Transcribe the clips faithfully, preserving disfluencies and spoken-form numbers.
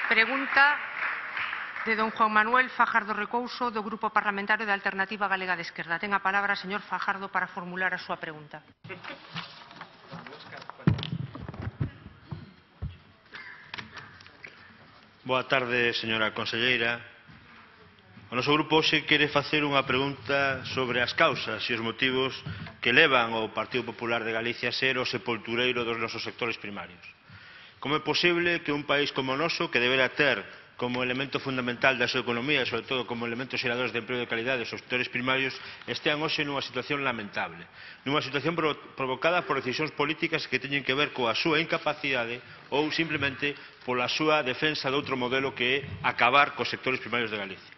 Pregunta de don Juan Manuel Fajardo Recouso, do Grupo Parlamentario da Alternativa Galega de Esquerda. Ten a palabra, señor Fajardo, para formular a súa pregunta. Boa tarde, señora conselleira. O noso grupo hoxe quere facer unha pregunta sobre as causas e os motivos que levan ao Partido Popular de Galicia a ser o sepultureiro dos nosos sectores primarios. Como é posible que un país como o noso, que deberá ter como elemento fundamental da súa economía e, sobre todo, como elementos xeradores de emprego de calidade os sectores primarios, estean hoxe nunha situación lamentable, nunha situación provocada por decisións políticas que teñen que ver coa súa incapacidade ou simplemente pola súa defensa de outro modelo que é acabar cos sectores primarios de Galicia.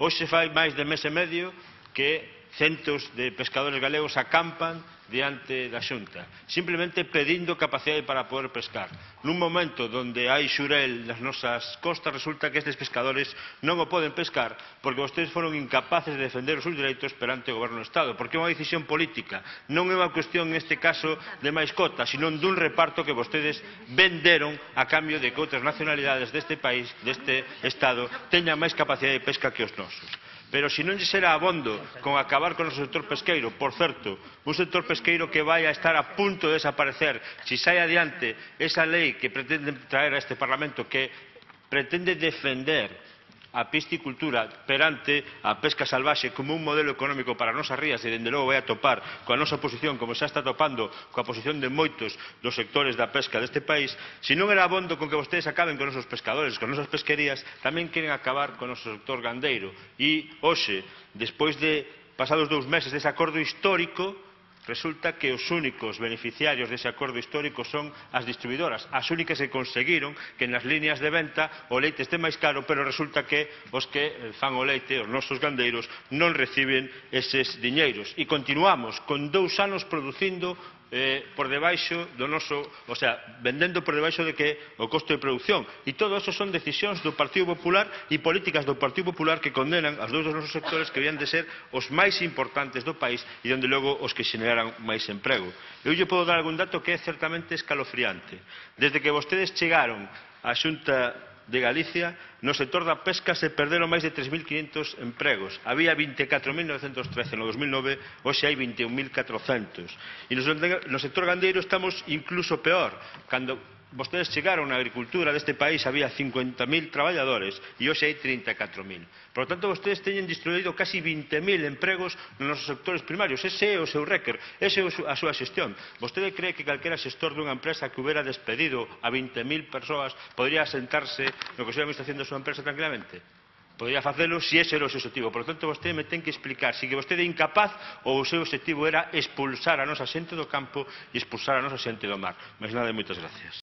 Hoxe fai máis de mes e medio que centos de pescadores galegos acampan diante da Xunta, simplemente pedindo capacidade para poder pescar. Nun momento onde hai xurel nas nosas costas, resulta que estes pescadores non o poden pescar porque vostedes foron incapaces de defender os seus dereitos perante o Goberno do Estado, porque é unha decisión política, non é unha cuestión neste caso de máis cotas, sino dun reparto que vostedes venderon a cambio de que outras nacionalidades deste país, deste Estado, teñan máis capacidade de pesca que os nosos. Pero se non lle será abondo con acabar con o sector pesqueiro, por certo, un sector pesqueiro que vai a estar a punto de desaparecer se sai adiante esa lei que pretende traer a este Parlamento, que pretende defender a piscicultura perante a pesca salvaxe como un modelo económico para as nosas rías e, dende logo, vai a topar coa nosa posición, como xa está topando coa posición de moitos dos sectores da pesca deste país. Se non era abondo con que vostedes acaben con os nosos pescadores, con as nosas pesquerías, tamén queren acabar con o noso sector gandeiro. E, hoxe, despois de pasados dous meses dese acordo histórico, resulta que os únicos beneficiarios dese acordo histórico son as distribuidoras, as únicas que conseguiron que nas líneas de venta o leite este máis caro, pero resulta que os que fan o leite, os nosos gandeiros, non reciben eses diñeiros. E continuamos con dous anos producindo eh, por debaixo do noso, o sea, vendendo por debaixo de que o costo de producción. E todo eso son decisións do Partido Popular e políticas do Partido Popular que condenan as dous dos nosos sectores que habían de ser os máis importantes do país e, onde logo, os que xeneraran máis emprego. Eu lle podo dar algún dato que é certamente escalofriante. Desde que vostedes chegaron á Xunta de Galicia, no sector da pesca se perderon máis de tres mil quinhentos empregos. Había vinte e catro mil novecentos trece no dos mil nove, hoxe hai vinte e un mil catrocentos. E no sector gandeiro estamos incluso peor. Cando vostedes chegaron na agricultura deste país había cincuenta mil traballadores e hoxe hai trinta e catro mil. Por lo tanto, vostedes teñen destruído casi vinte mil empregos nos nosos sectores primarios. Ese é o seu récord, esa é a súa xestión. Vostede cree que calquera xestor dunha empresa que hubiera despedido a vinte mil persoas podría sentarse no Consello de Administración da súa empresa tranquilamente? Podría facelo se ese era o seu objetivo. Por lo tanto, vostede me ten que explicar se que vostede é incapaz ou o seu objetivo era expulsar a nosa xente do campo e expulsar a nosa xente do mar. Máis nada e moitas gracias.